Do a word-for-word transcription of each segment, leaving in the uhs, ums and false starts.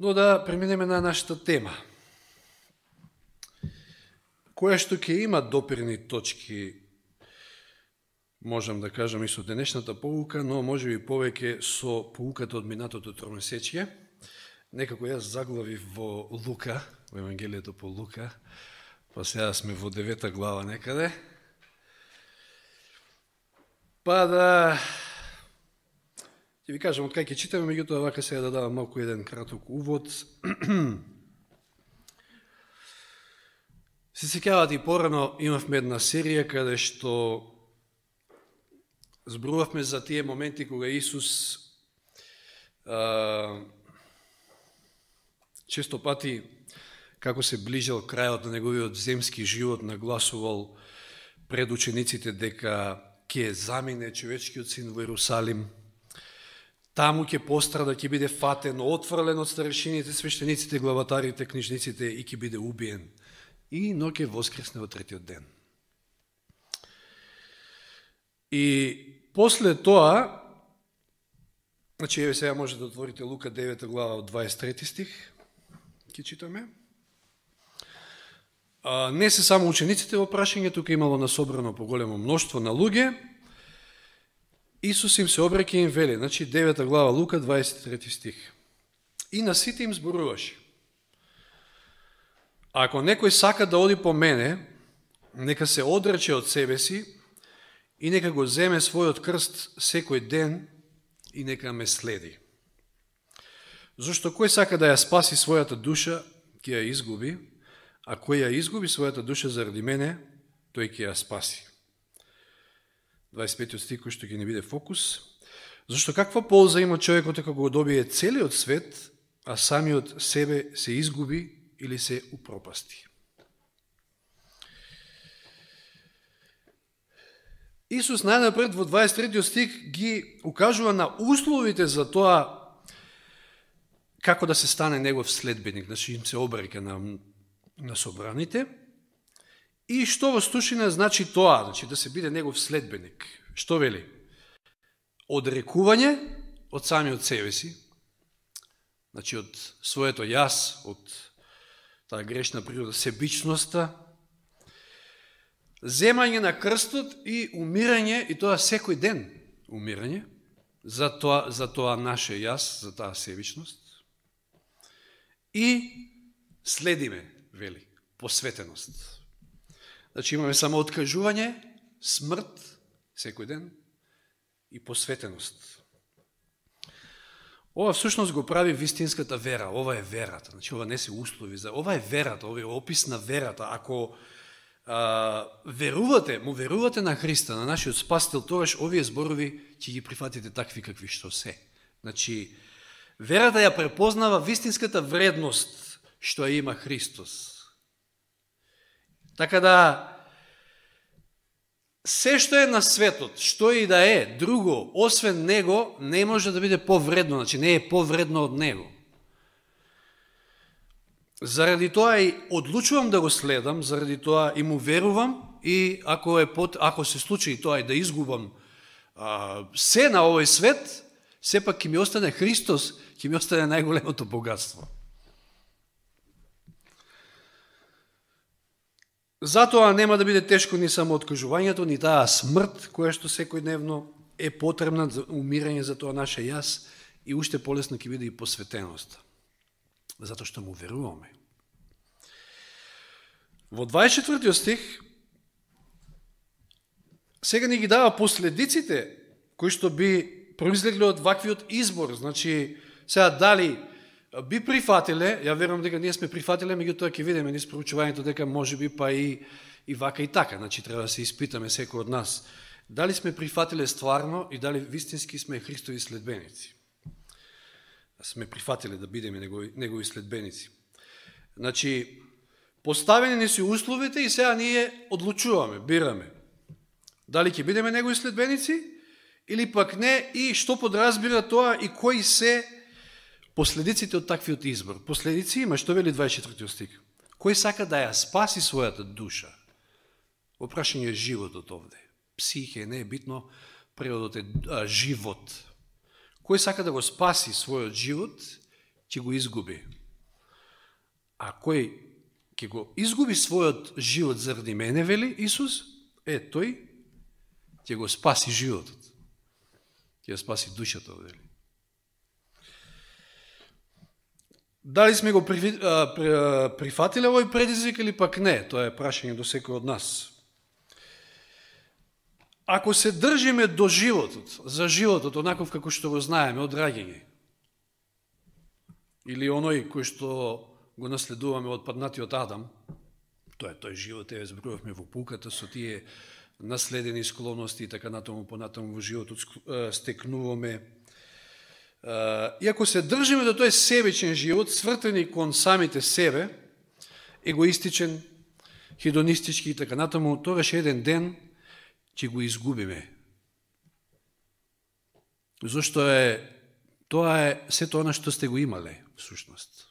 Но да преминеме на нашата тема, која што ќе има допирни точки, можам да кажам и со денешната поука, но може би повеќе со поуката од минатото тромесечие. Некако јас заглавив во Лука, во Евангелието по Лука, па сега сме во девета глава некаде. Па да ќе ви кажам од кај ќе читаме, меѓутоа вака сега да давам малку еден краток увод. Се сеќавате и порано имавме една серија каде што зборувавме за тие моменти кога Исус а, често пати, како се ближал крајот на неговиот земски живот, нагласувал пред учениците дека ќе замине човечкиот син во Ерусалим, таму ќе пострада, ќе биде фатен, отфрлен од старешините, свештениците, главатарите, книжниците и ќе биде убиен. И но ќе воскресне во третиот ден. И после тоа, значи еве сега може да отворите Лука девета глава од дваесет и трети стих, ќе читаме. А, не се само учениците во прашање, тука имало насобрано поголемо мноштво на луѓе. Исус им се обраќа и им вели, значи девета глава Лука дваесет и трети стих. И на сите им зборуваше: ако некој сака да оди по мене, нека се одрече од себе си и нека го земе својот крст секој ден и нека ме следи. Зашто кој сака да ја спаси својата душа, ќе ја изгуби, а кој ја изгуби својата душа заради мене, тој ќе ја спаси. дваесет и пети стих, кој што ќе не биде фокус. Зашто каква полза има човекот ако го добие целиот свет, а самиот себе се изгуби или се упропасти? Исус најнапред во дваесет и трети стих ги укажува на условите за тоа како да се стане негов следбеник, значи им се обраќа на, на собраните. И што во сушина значи тоа, значи да се биде негов следбеник? Што вели? Одрекување од самиот себе си, значи од своето јас, од таа грешна природа, себичноста, земање на крстот и умирање, и тоа секој ден умирање, за тоа, за тоа наше јас, за таа себичност. И следиме, вели, посветеност. Значи имаме само откажување, смрт, секој ден, и посветеност. Ова всушност го прави вистинската вера, ова е верата, значи ова не се услови, за ова е верата, ова е опис на верата. Ако а, верувате, му верувате на Христа, на нашиот Спасител, тогаш овие зборови ќе ги прифатите такви какви што се. Значи, верата ја препознава вистинската вредност што ја има Христос. Така да, се што е на светот, што и да е друго, освен Него, не може да биде повредно, значи не е повредно од Него. Заради тоа и одлучувам да го следам, заради тоа и му верувам, и ако, е под, ако се случи тоа и да изгубам а, се на овој свет, сепак ќе ми остане Христос, ќе ми остане најголемото богатство. Затоа нема да биде тешко ни само откажувањето, ни таа смрт, која што секојдневно е потребна за умирање за тоа наше јас, и уште полесно ќе биде и посветеност. Затоа што му веруваме. Во дваесет и четвртиот стих сега ни ги дава последиците кои што би произлегли од ваквиот избор. Значи, сега дали би прифатиле, ја верувам дека ние сме прифатиле, меѓутоа ќе видиме низ проучувањето дека може би па и, и вака и така. Значи, треба да се испитаме секој од нас. Дали сме прифатиле стварно и дали вистински сме Христови следбеници. Сме прифатиле да бидеме негови, негови следбеници. Значи, поставени не си условите и сега ние одлучуваме, бираме. Дали ќе бидеме негови следбеници или пак не, и што подразбира тоа и кои се последиците од таквиот избор. Последици има, што вели дваесет и четвртиот стих. Кој сака да ја спаси својата душа? Во прашање е животот овде. Психе, не е битно, преводот е а, живот. Кој сака да го спаси својот живот, ќе го изгуби. А кој ќе го изгуби својот живот заради мене, вели Исус, е, тој ќе го спаси животот. Ќе го спаси душата, вели. Дали сме го прифатиле овој предизвик или пак не? Тоа е прашање до секој од нас. Ако се држиме до животот, за животот, онаков како што го знаеме од раѓање, или оној кој што го наследуваме од паднатиот Адам, тоа е тој живот, е зборувавме во пуката со тие наследени склоности и така натаму понатаму во животот стекнуваме. И ако се држиме до тој себечен живот, свртени кон самите себе, егоистичен, хедонистички и така натаму, тогаш еден ден ќе го изгубиме. Зошто е, тоа е сето она што сте го имале, всушност.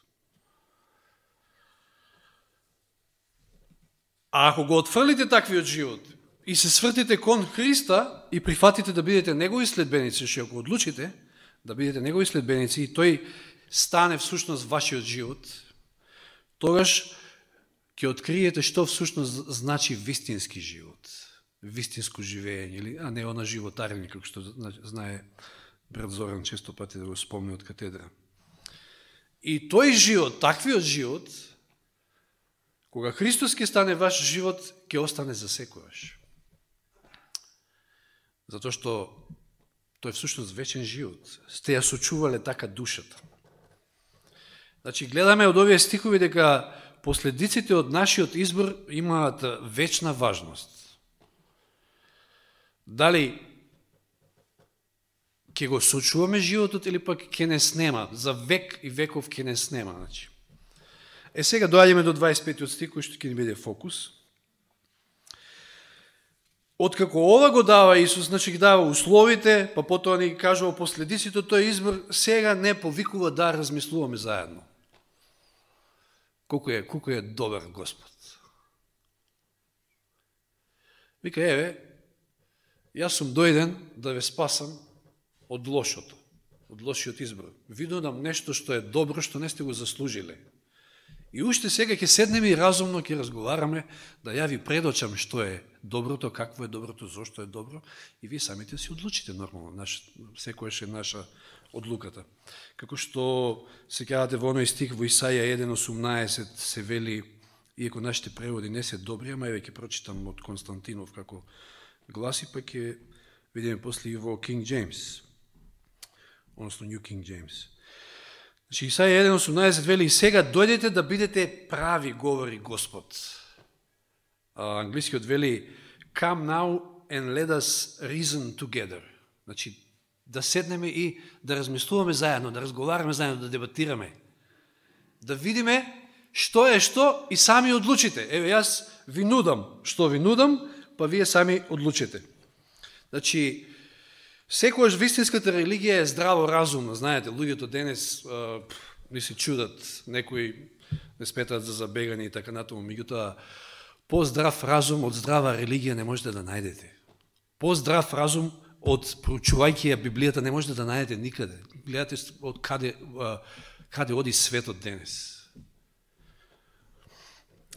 А ако го отфрлите таквиот живот и се свртите кон Христа и прифатите да бидете негови следбеници, што ако одлучите да бидете негови следбеници и тој стане всушност вашиот живот, тогаш ќе откриете што всушност значи вистински живот, вистинско живење, а не она животарење, како што знае брат Зоран често пати да го спомне од катедра. И тој живот, таквиот живот, кога Христос ќе стане ваш живот, ќе остане за секојаш. Затоа што тој е всушност вечен живот. Сте ја сочувале така душата. Значи, гледаме од овие стихови дека последиците од нашиот избор имаат вечна важност. Дали ќе го сочуваме животот или пак ќе не снема, за век и веков ќе не снема. Значи. Е, сега доаѓаме до дваесет и петиот стих, кој што ќе ни биде фокус. Откако ова го дава Исус, значи ги дава условите, па потоа ни кажува последиците од тој избор, сега не повикува да размислуваме заедно. Колко е, колко е добар Господ. Вика, еве, јас сум дојден да ве спасам од лошото, од лошиот избор. Ви додам нешто што е добро, што не сте го заслужиле. И уште сега ќе седнеме и разумно ќе разговараме, да ја ви предочам што е доброто, какво е доброто, зошто е добро, и вие самите си одлучите нормално, наш, секојаш е наша одлуката. Како што се кажате во оној стих во Исаја еден осумнаесет се вели, иако нашите преводи не се добри, ама еве ќе прочитам од Константинов како гласи, па ќе видиме после и во King James, односно New King James. Значи, Исаја еден осумнаесет вели, и сега дојдете да бидете прави, говори Господ. А, англискиот вели, come now and let us reason together. Значи, да седнеме и да размислуваме заедно, да разговараме заедно, да дебатираме. Да видиме што е што и сами одлучите. Еве, јас ви нудам што ви нудам, па вие сами одлучите. Значи, секојаш вистинската религија е здраво разумна. Знаете, луѓето денес а, не се чудат, некои не сметаат за забегани и така натаму. Меѓутоа, по-здрав разум од здрава религија не можете да најдете. По-здрав разум од проучувајќи ја Библијата не можете да најдете никаде. Гледате од каде, каде оди светот денес.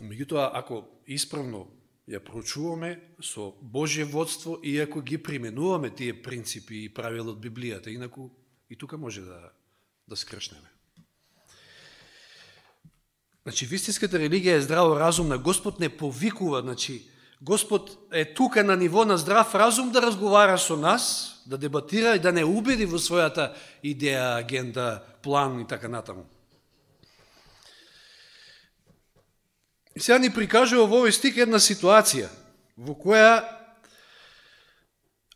Меѓутоа, ако исправно ја проучуваме со Божје водство и ако ги применуваме тие принципи и правила од Библијата, инаку и тука може да, да скршнеме. Значи, вистинската религија е здраво разумна. Господ не повикува, значи, Господ е тука на ниво на здрав разум да разговара со нас, да дебатира и да не убеди во својата идеја, агенда, план и така натаму. И сега ни прикажува во овој стих една ситуација, во која,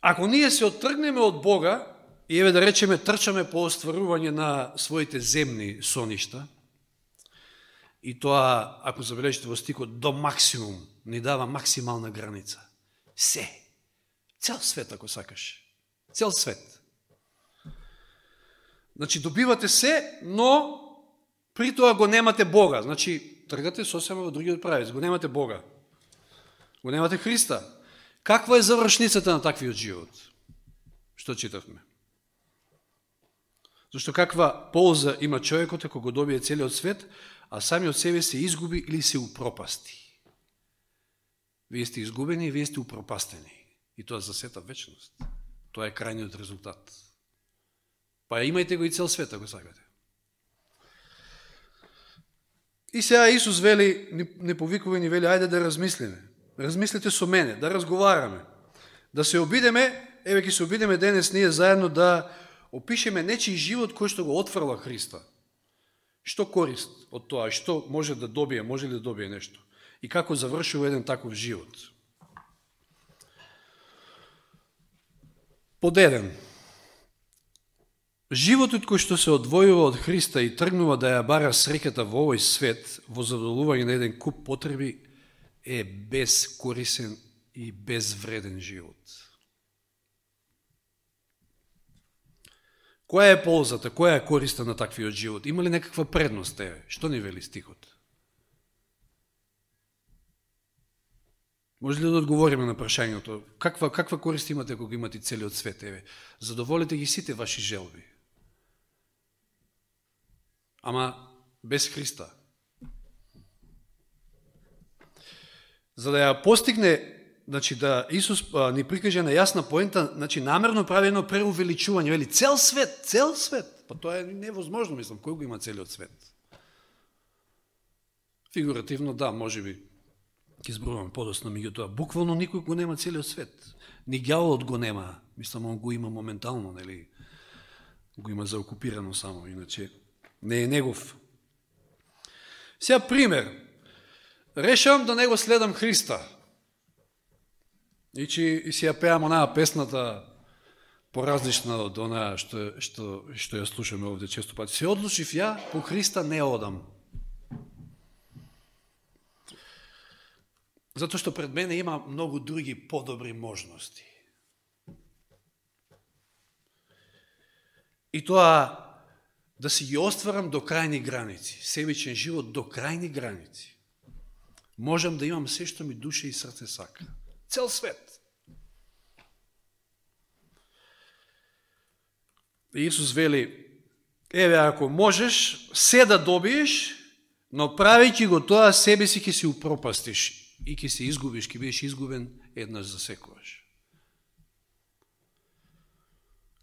ако ние се оттргнеме од Бога, и еве да речеме трчаме по остварување на своите земни соништа, и тоа, ако забележите во стихот, до максимум, ни дава максимална граница. Се. Цел свет, ако сакаш. Цел свет. Значи, добивате се, но при тоа го немате Бога. Значи, тргате сосема во другиот правец. Го немате Бога. Го немате Христа. Каква е завршницата на таквиот живот? Што читавме? Зашто каква полза има човекот ако го добие целиот свет, а сами од себе се изгуби или се упропасти. Вие сте изгубени и вие сте упропастени. И тоа за сета вечност. Тоа е крајниот резултат. Па имајте го и цел свет, ако сакате. И сега Исус вели, не повикува ни вели, ајде да размислиме. Размислите со мене, да разговараме. Да се обидеме, еве ќе се обидеме денес ние заедно да опишеме нечи живот кој што го отфрла Христа. Што корист од тоа, што може да добие, може ли да добие нешто? И како завршува еден таков живот? Под еден. Животот кој што се одвојува од Христа и тргнува да ја бара среќата во овој свет, во задоволување на еден куп потреби, е безкорисен и безвреден живот. Која е ползата, која е користа на таквиот живот? Има ли некаква предност, еве? Што ни вели стихот? Може ли да одговориме на прашањето? Каква, каква корист имате ако го имате целиот свет, еве? Задоволите ги сите ваши желби. Ама без Христа. За да ја постигне, значи да Исус а, ни прикаже на јасна поента, значи намерно прави едно преувеличување, вели цел свет, цел свет. Па тоа е невозможно, мислам, кој го има целиот свет? Фигуративно да, можеби ќе зборувам подоцна, меѓутоа буквално никој го нема целиот свет. Ни ѓаволот го нема, мислам он го има моментално, нели? Го има заокупирано само, иначе не е негов. Сега пример. Решавам да не го следам Христа. И че и си ја пеам онаа песната поразлична од онаа што, што, што ја слушаме овде често пати. Се одлучив ја, по Христа не одам. Затоа што пред мене има многу други подобри можности. И тоа да си ги остварам до крајни граници, себичен живот до крајни граници. Можам да имам се што ми душа и срце сака. Цел свет. И Исус вели, еве ако можеш се да добиеш, но правејќи го тоа себе си ќе се упропастиш и ќе се изгубиш, ќе бидеш изгубен еднаш за секогаш.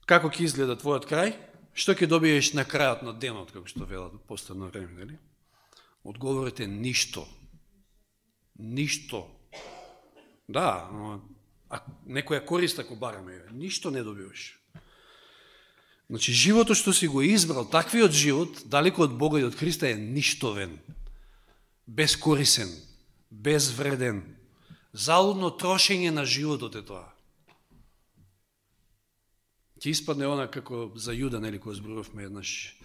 Како ќе изгледа твојот крај? Што ќе добиеш на крајот на денот, како што велат последно време, нели? Одговорот е ништо. Ништо. Да, а некоја корист ако бараме, ништо не добиваш. Значи, животот што си го избрал, таквиот живот, далеко од Бога и од Христа, е ништовен, безкорисен, безвреден, залудно трошење на животот е тоа. Ќе испадне она како за Јуда, нели, кој зборувавме еднаш.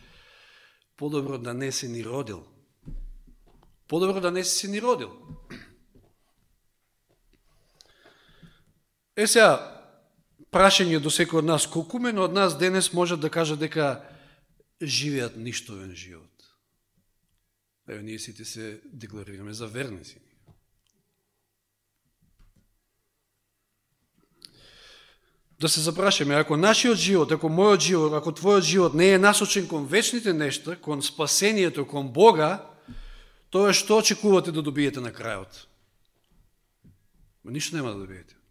Подобро да не се ни родил. Подобро да не се ни родил. Е сега, прашање до секој од нас, колку мен од нас денес можат да кажат дека живеат ништовен живот? Еве, ние сите се декларираме за верници. Да се запрашаме, ако нашиот живот, ако мојот живот, ако твојот живот не е насочен кон вечните нешта, кон спасението, кон Бога, тоа што очекувате да добиете на крајот? Ништо нема да добиете.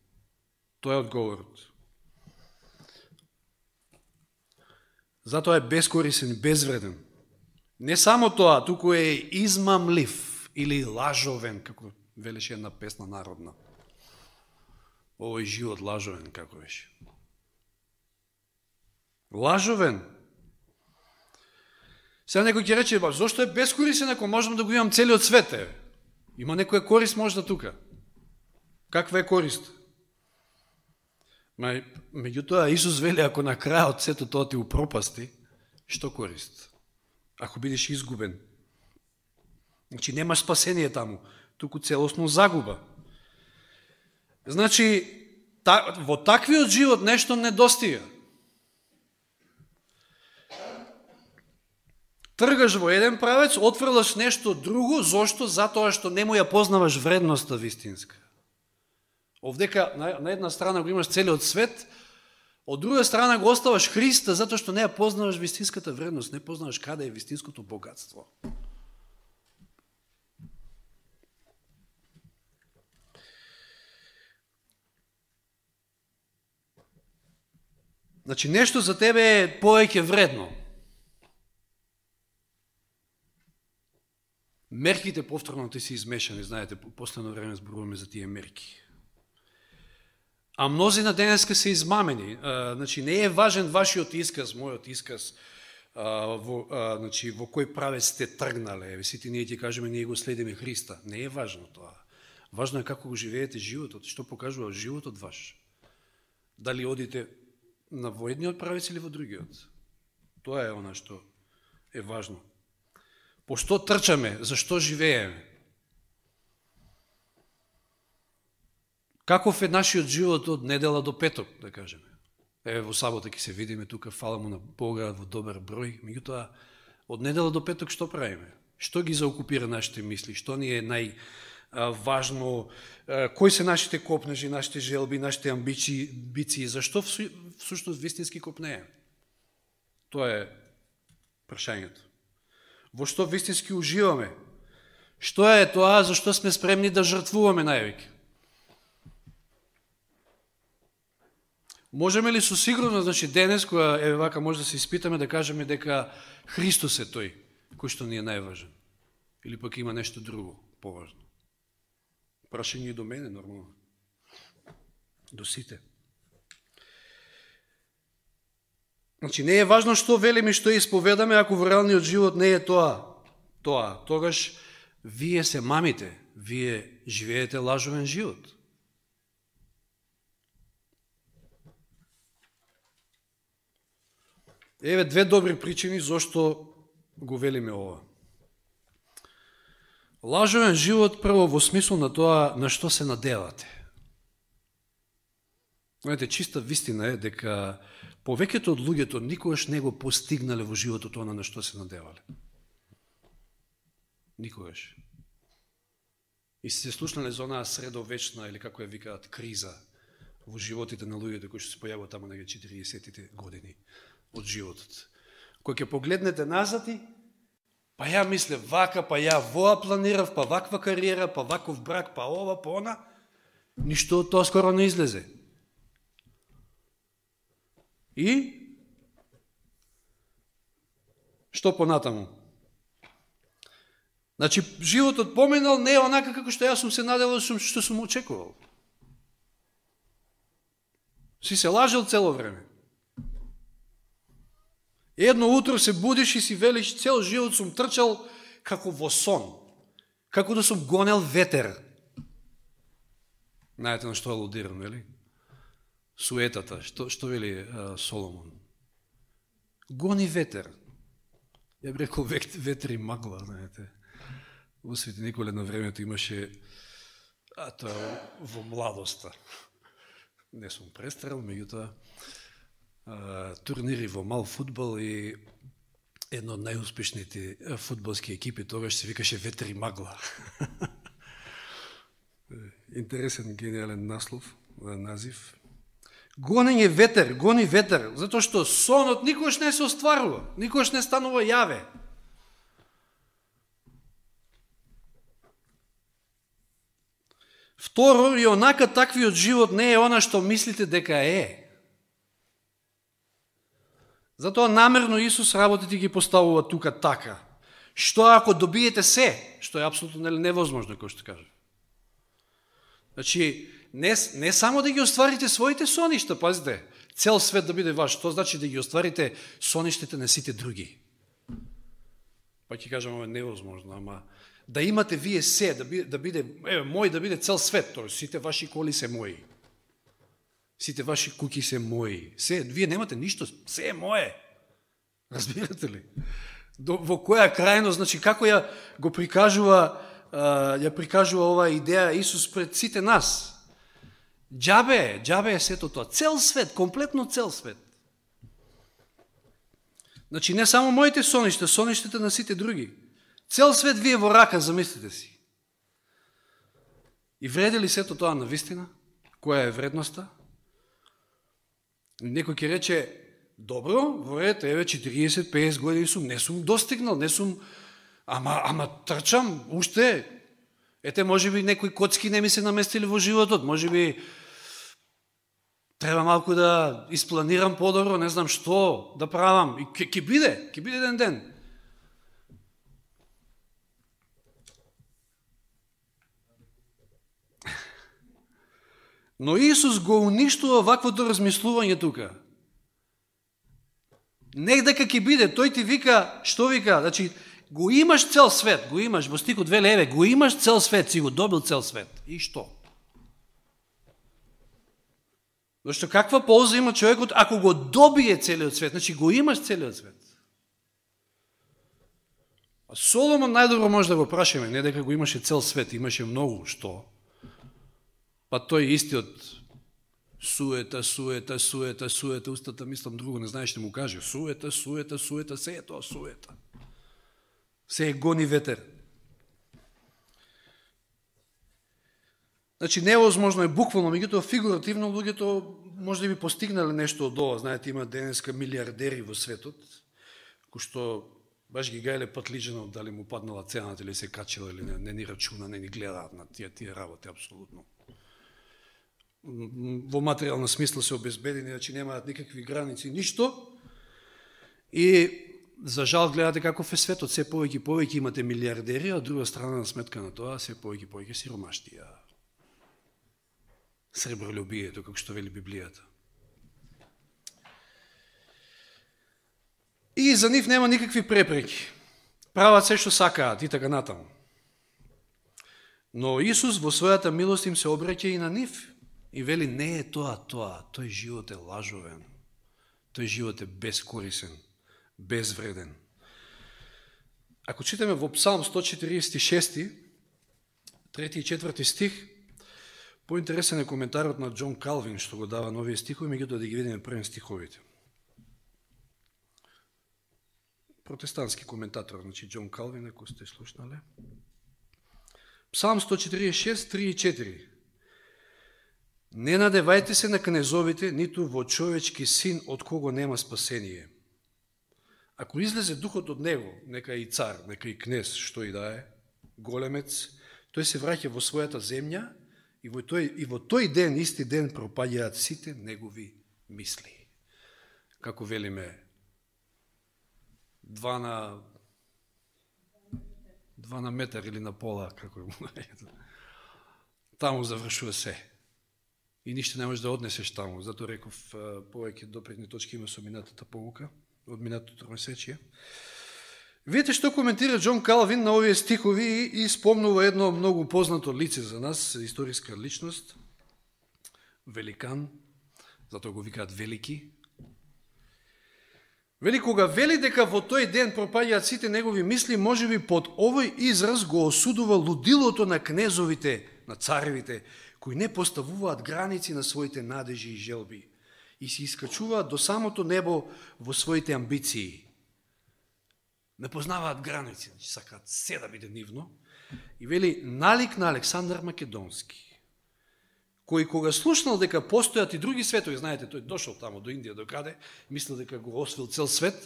Тоа е одговорот. Затоа е безкорисен, безвреден. Не само тоа, туку е измамлив или лажовен, како велеше една песна народна. Овој живот лажовен, како беше. Лажовен. Сега некој ќе рече, ба, зошто е безкорисен ако можам да го имам целиот свет? Е? Има некоја корист можда тука. Каква е корист? Меѓутоа, Исус вели, ако на крајот сето тоа ти упропасти, што корист? Ако бидеш изгубен. Значи, немаш спасение таму, туку целосно загуба. Значи, та, во таквиот живот нешто недостига. Тргаш во еден правец, отфрлаш нешто друго, зошто? Затоа што не му ја познаваш вредноста вистинска. Овдека на, на една страна го имаш целиот свет, Од друга страна го оставаш Христа затоа што не ја познаваш вистинската вредност, не познаваш каде е вистинското богатство. Значи, нешто за тебе е повеќе вредно. Мерките повторно ти се измешани, знаете, по последно време зборуваме за тие мерки. А мнозина денеска се измамени. А, значи, не е важен вашиот исказ, мојот исказ, а, во, а, значи, во кој правец сте тргнале. Ево, сите ние ти кажеме, ние го следиме Христа. Не е важно тоа. Важно е како го живеете животот, што покажува животот ваш. Дали одите на во едниот правец или во другиот. Тоа е она што е важно. По што трчаме, зашто живееме? Каков е нашиот живот од недела до петок, да кажеме? Еве во сабота ќе се видиме тука, фала му на Бога во добар број, меѓутоа од недела до петок што правиме? Што ги заокупира нашите мисли? Што ни е најважно? Кои се нашите копнежи, нашите желби, нашите амбиции, амбиции? Зашто всушност вистински копнееме? Тоа е прашањето. Во што вистински уживаме? Што е тоа за што сме спремни да жртвуваме највеќе? Можеме ли со сигурност, значи денес, која е вака може да се испитаме, да кажеме дека Христос е тој, кој што ни е најважен? Или пак има нешто друго, поважно? Прашање и до мене, нормално. До сите. Значи, не е важно што велиме и што исповедаме, ако во реалниот живот не е тоа. Тоа, тогаш вие се мамите, вие живеете лажовен живот. Еве две добри причини зошто го велиме ова. Лажовен живот прво во смисол на тоа на што се надевате. Знаете, чиста вистина е дека повеќето од луѓето никогаш не го постигнале во животот она на што се надевале. Никогаш. И се слушнале за онаа средовечна, или како ја викаат, криза во животите на луѓето кои што се појавува таму на четиридесетите години од животот. Кој ќе погледнете назад и, па ја мисле вака, па ја воа планирав, па ваква кариера, па ваков брак, па ова, па она, ништо од тоа скоро не излезе. И што понатаму? Значи, животот поминал не е онака како што јас сум се наделал, што сум очекувал. Си се лажел цело време. Едно утро се будиш и си велиш, цел живот сум трчал како во сон, како да сум гонел ветер. Знаете на што алудирам, нели? Суетата, што, што вели а, Соломон? Гони ветер. Ја би рекол ветер и магла, знаете. Во Свети Николе на времето имаше, а тоа во младоста. Не сум престрел, меѓутоа, турнири во мал фудбал и едно од најуспешните фудбалски екипи тогаш се викаше Ветер и магла. Интересен, гениален наслов, назив. Гонење ветер, гони ветер, затоа што сонот никогаш не се остварува, никогаш не станува јаве. Второ, и онака таквиот живот не е она што мислите дека е. Затоа намерно Исус работите ги поставува тука така. Што ако добиете се, што е апсолутно невозможно, кој што кажа. Значи, не, не само да ги остварите своите соништа, пазите, цел свет да биде ваш, тоа значи да ги остварите соништите на сите други. Па ќе кажам, ова е невозможно, ама да имате вие се, да биде, да биде еве, мој, да биде цел свет, тоа сите ваши коли се мои. Сите ваши куки се мои. Се, вие немате ништо, се е мое. Разбирате ли? До, во која крајност, значи како ја го прикажува, а, ја прикажува оваа идеја Исус пред сите нас. Џабе е, џабе е сето тоа. Цел свет, комплетно цел свет. Значи не само моите соништа, соништите на сите други. Цел свет вие во рака, замислите си. И вреди ли сето тоа на вистина? Која е вредноста? Некој ќе рече, добро, во ред, еве четириесет песет години сум, не сум достигнал, не сум, ама, ама трчам, уште, ете, може би некои коцки не ми се наместили во животот, може би треба малку да испланирам подобро, не знам што да правам, и ќе, ќе биде, ќе биде еден ден. Но Исус го уништува ваквото размислување тука. Нек дека ќе биде, тој ти вика, што вика, значи, го имаш цел свет, го имаш, во стихот две еве, го имаш цел свет, си го добил цел свет. И што? Зашто каква полза има човекот ако го добие целиот свет, значи го имаш целиот свет. А Соломон најдобро може да го прашаме, не дека го имаше цел свет, имаше многу, што? Па тој истиот суета, суета, суета, суета, устата мислам друго, не знаеш што му каже. Суета, суета, суета, се е тоа суета. Се е гони ветер. Значи, невозможно е буквално, меѓутоа фигуративно, луѓето може да би постигнале нешто од ова. Знаете, има денеска милиардери во светот, кои што баш ги гајле патлиџано, дали му паднала цената или се качила, или не, не ни рачуна, не ни гледаат на тие, тие работи, апсолутно. Во материјална смисла се обезбедени, значи немаат никакви граници, ништо. И за жал гледате каков е светот, се повеќе повеќе имате милиардери, а друга страна на сметка на тоа се повеќе повеќе сиромаштија. Сребролюбието, како што вели Библијата. И за нив нема никакви препреки. Прават се што сакаат и така натаму. Но Исус во својата милост им се обраќа и на нив. И вели, не е тоа тоа, тој живот е лажовен, тој живот е бескорисен, безвреден. Ако читаме во Псалм сто четириесет и шест, трети и четврти стих, поинтересен е коментарот на Џон Калвин, што го дава нови стихови, меѓутоа да ги видиме првен стиховите. Протестантски коментатор, значи Џон Калвин, ако сте слушнале. Псалм сто четириесет и шест, три и четири. Не надевајте се на кнезовите, ниту во човечки син, од кого нема спасение. Ако излезе духот од него, нека и цар, нека и кнез, што и да е, големец, тој се враќа во својата земја и во тој, и во тој ден, исти ден, пропаѓаат сите негови мисли. Како велиме, два на, два на метар или на пола, како е, таму завршува се. И ништо не можеш да однесеш таму. Зато реков, повеќе допредни точки има со минатата полука, од минатото месечие. Видите што коментира Џон Калвин на овие стихови и спомнува едно многу познато лице за нас, историска личност, великан, затоа го викаат велики. Вели, кога вели дека во тој ден пропаѓаат сите негови мисли, можеби под овој израз го осудува лудилото на кнезовите, на царевите, кои не поставуваат граници на своите надежи и желби и се искачуваат до самото небо во своите амбиции. Не познаваат граници, сакаат се да биде нивно. И вели, налик на Александар Македонски, кој кога слушнал дека постојат и други светови, знаете, тој дошол тамо до Индија, до каде, мислил дека го освил цел свет,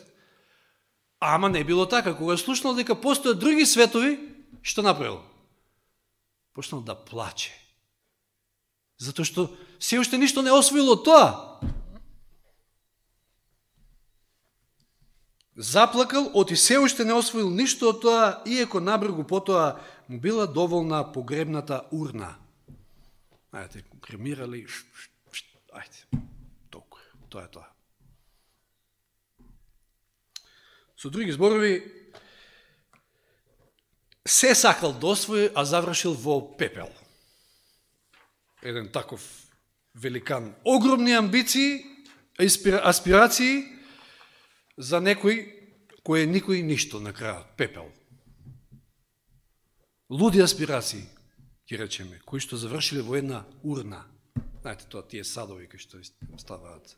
ама не било така. Кога слушнал дека постојат други светови, што направил? Почнал да плаче. Затоа што се уште ништо не освоило тоа. Заплакал, оти се уште не освоил ништо од тоа, иеко набрегу потоа му била доволна погребната урна. Ајде, кремирали, ајде, толку, тоа е тоа. Со други зборови, се сакал да освои, а завршил во пепел. Еден таков великан. Огромни амбиции, аспирации за некој кој е никој ништо на крајот, пепел. Луди аспирации, ќе речеме, кои што завршиле во една урна. Знаете, тоа тие садови кои што ставаат.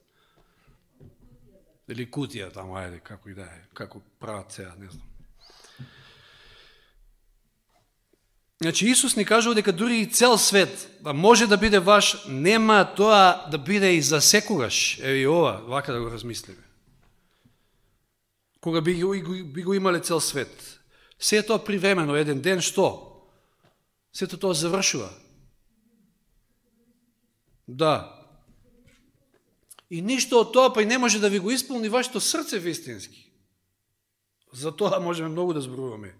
Или кутија таму, ајде, како и да е, како прават сега, не знам. Значи, Исус ни кажува дека дури и цел свет може да биде ваш, нема тоа да биде и за секогаш. Еви ова, вака да го размислиме. Кога би го, би го имале цел свет. Се тоа привремено, еден ден, што? Сето тоа завршува. Да. И ништо од тоа па и не може да ви го исполни вашето срце вистински. За тоа можеме многу да зборуваме.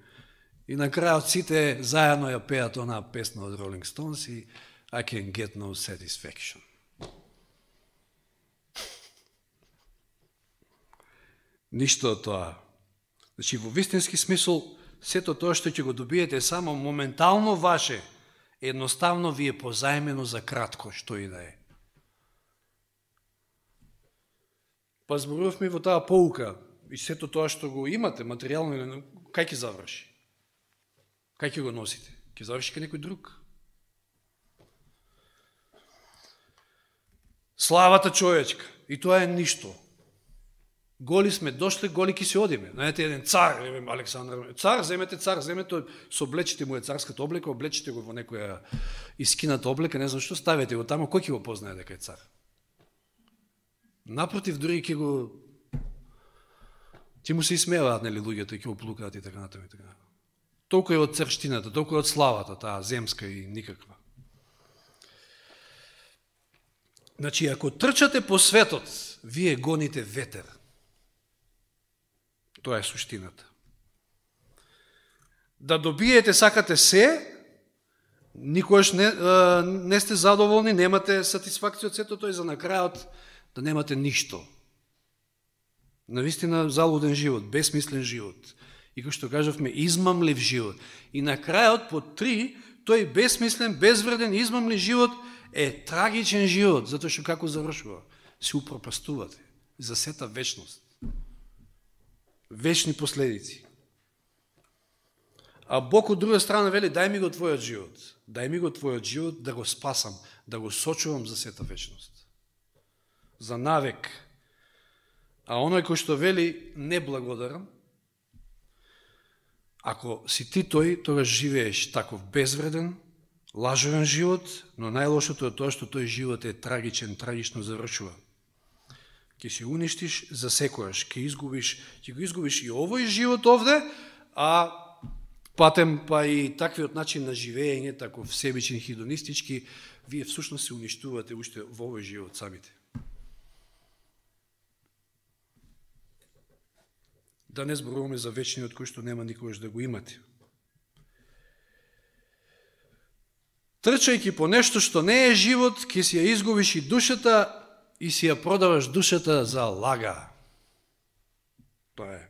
И на крајот сите заедно ја пеат онаа песна од Rolling Stones и I can get no satisfaction. Ништо од тоа. Значи, во вистински смисол, сето тоа што ќе го добиете само моментално ваше, едноставно ви е позајмено за кратко, што и да е. Па зборувавме во таа поука, и сето тоа што го имате, материјално, кај ќе заврши? Кај ќе го носите? Ќе заврши кај некој друг? Славата човечка. И тоа е ништо. Голи сме дошли, голи ќе се одиме. Знаете, еден цар, Александр, цар, земете цар, земете, соблечите му е царската облека, облечите го во некоја искината облека, не знам што, ставете го тамо, кој ќе го познае дека е цар? Напротив, дури ќе го... Ти му се исмеваат, нели, луѓето, ќе го плукаат и така натаму и така натаму. Толку е од црштината, толку е од славата, таа земска и никаква. Значи, ако трчате по светот, вие гоните ветер. Тоа е суштината. Да добиете, сакате се, никогаш не, не сте задоволни, немате сатисфакција од сето тоа и за на крајот да немате ништо. Навистина залуден живот, бесмислен живот. И како што кажавме, измамлив живот. И на крајот, по три, тој бесмислен, безвреден, измамлив живот е трагичен живот, затоа што како завршува? Се упропастувате за сета вечност. Вечни последици. А Бог од друга страна вели, дај ми го твојот живот. Дај ми го твојот живот да го спасам, да го сочувам за сета вечност. За навек. А оној кој што вели неблагодарам, ако си ти тој, тогаш живееш таков безвреден, лажовен живот, но најлошото е тоа што тој живот е трагичен, трагично завршува. Ке си уништиш за секојаш, ке изгубиш, ќе го изгубиш и овој живот овде, а патем па и таквиот начин на живење, таков себичен, хидонистички, вие всушност се уништувате уште во овој живот самите. Да не зборуваме за вечниот кој што нема никогаш да го имате. Трчајќи по нешто што не е живот, ќе си ја изгубиш и душата и си ја продаваш душата за лага. Тоа е.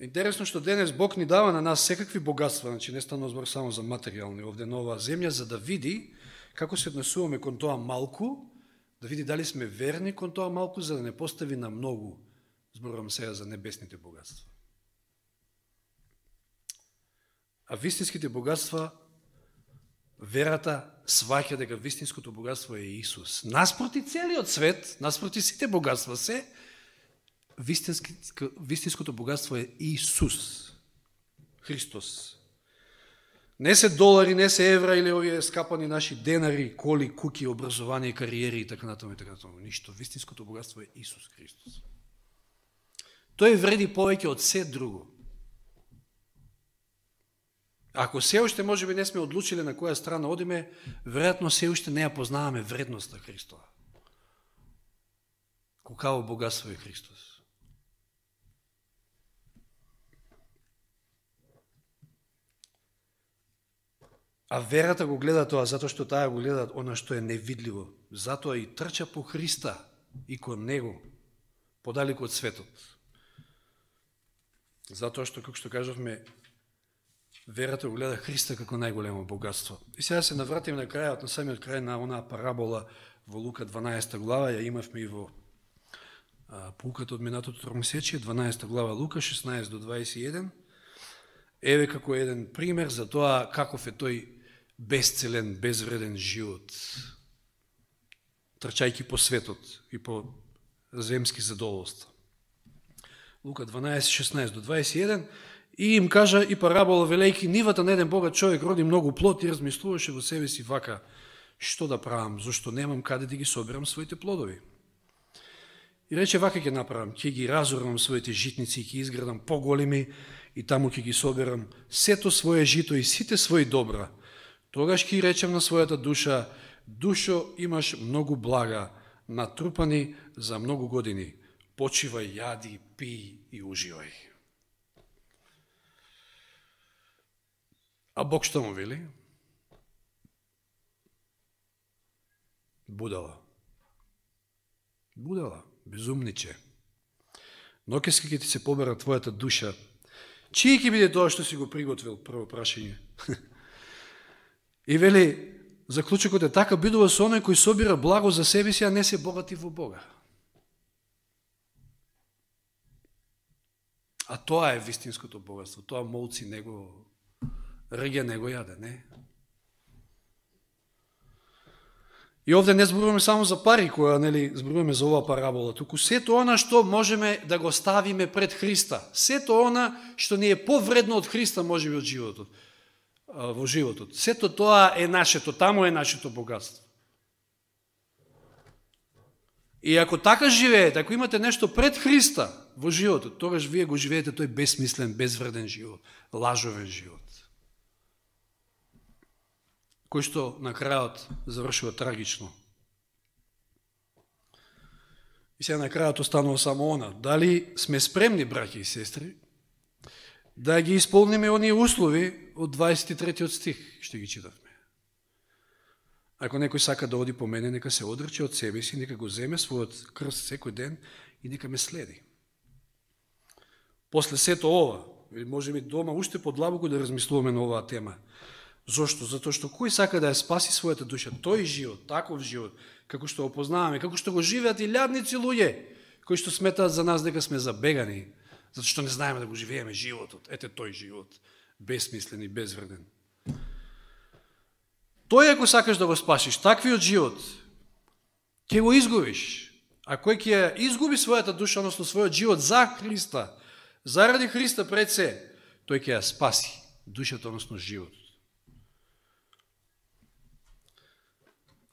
Интересно што денес Бог ни дава на нас секакви богатства, значи не станува збор само за материјални овде на оваа земја, за да види како се однесуваме кон тоа малку, да види дали сме верни кон тоа малку, за да не постави на многу. Зборувам сега за небесните богатства. А вистинските богатства, верата сваќа дека вистинското богатство е Исус. Наспроти целиот свет, наспроти сите богатства се, вистинското богатство е Исус. Христос. Не се долари, не се евра или овие скапани наши денари, коли, куки, образование, кариери и така натаму и така натаму. Ништо. Вистинското богатство е Исус Христос. Тој вреди повеќе од се друго. Ако се уште може би не сме одлучили на која страна одиме, веројатно се уште не ја познаваме вредноста Христова. Колкаво богатство е Христос. А верата го гледа тоа, затоа што таа го гледа она што е невидливо. Затоа и трча по Христа и кон Него, подалеку од светот. Затоа што, како што кажавме, верата го гледа Христа како најголемо богатство. И сега се навратим на крајот, на самиот крај на онаа парабола во Лука дванаесета глава, ја имавме и во поуката од минатото тромесечие, дванаесета глава Лука, шеснаесет до дваесет и еден. Еве како еден пример за тоа каков е тој безцелен, безвреден живот, трчајќи по светот и по земски задоволства. Лука дванаесет, шеснаесет до дваесет и еден, И им кажа и парабола, велејки, нивата на еден богат човек роди многу плод и размислуваше во себе си вака, што да правам, зашто немам каде да ги соберам своите плодови. И рече, вака ќе направам, ќе ги разорвам своите житници, ќе изградам поголеми и таму ќе ги соберам сето свое жито и сите своји добра. Тогаш ќе речем на својата душа, душо, имаш многу блага, натрупани за многу години. Почивај, јади, пи и уживај. А Бог што му вели? Будала. Будала, безумниче. Ноќеска ќе ти се побера твојата душа. Чие ќе биде тоа што си го приготвил, прво прашање. И вели, заклучокот е така, бидува со оној кој собира благо за себе си, а не се богати во Бога. А тоа е вистинското богатство. Тоа молци него, рѓа него јаде, не? И овде не зборуваме само за пари, која, нели, зборуваме за оваа парабола, туку сето она што можеме да го ставиме пред Христа. Сето она што ни е повредно од Христа, можеби од животот, во животот. Сето тоа е нашето, таму е нашето богатство. И ако така живеете, ако имате нешто пред Христа во животот, тогаш вие го живеете тој безсмислен, безвреден живот, лажовен живот, кој што на крајот завршува трагично. И сега на крајот останува само она. Дали сме спремни, браќи и сестри, да ги исполниме оние услови од дваесет и третиот стих, што ги читавме. Ако некој сака да оди по мене, нека се одрече од себе си, нека го земе својот крст секој ден и нека ме следи. После сето ова, може би дома уште подлабоко да размислуваме на оваа тема. Зошто? Затоа што кој сака да ја спаси својата душа, тој живот, таков живот, како што го познаваме, како што го живеат и лјадници луѓе, кои што сметаат за нас дека сме забегани, затоа што не знаеме да го живееме животот. Ете тој живот, безсмислен и безвреден. Тој ако сакаш да го спасиш, таквиот живот, ќе го изгубиш. А кој ќе изгуби својата душа, односно својот живот за Христа, заради Христа пред се, тој ќе ја спаси душата, односно живот.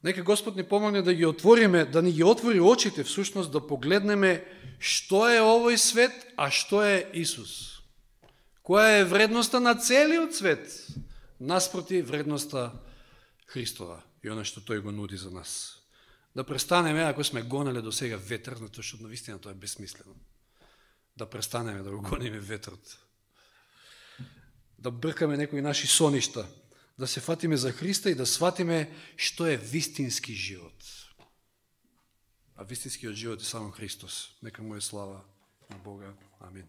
Нека Господ ни помогне да ги отвориме, да ни ги отвори очите, всушност да погледнеме што е овој свет, а што е Исус. Која е вредноста на целиот свет, наспроти вредноста Христова и оно што тој го нуди за нас. Да престанеме, ако сме гонеле до сега ветер, затоа што навистина тоа е безсмислено. Да престанеме да го гониме ветрот. Да бркаме некои наши соништа, да се фатиме за Христа и да сватиме што е вистински живот. А вистинскиот живот е само Христос. Нека му е слава на Бога. Амин.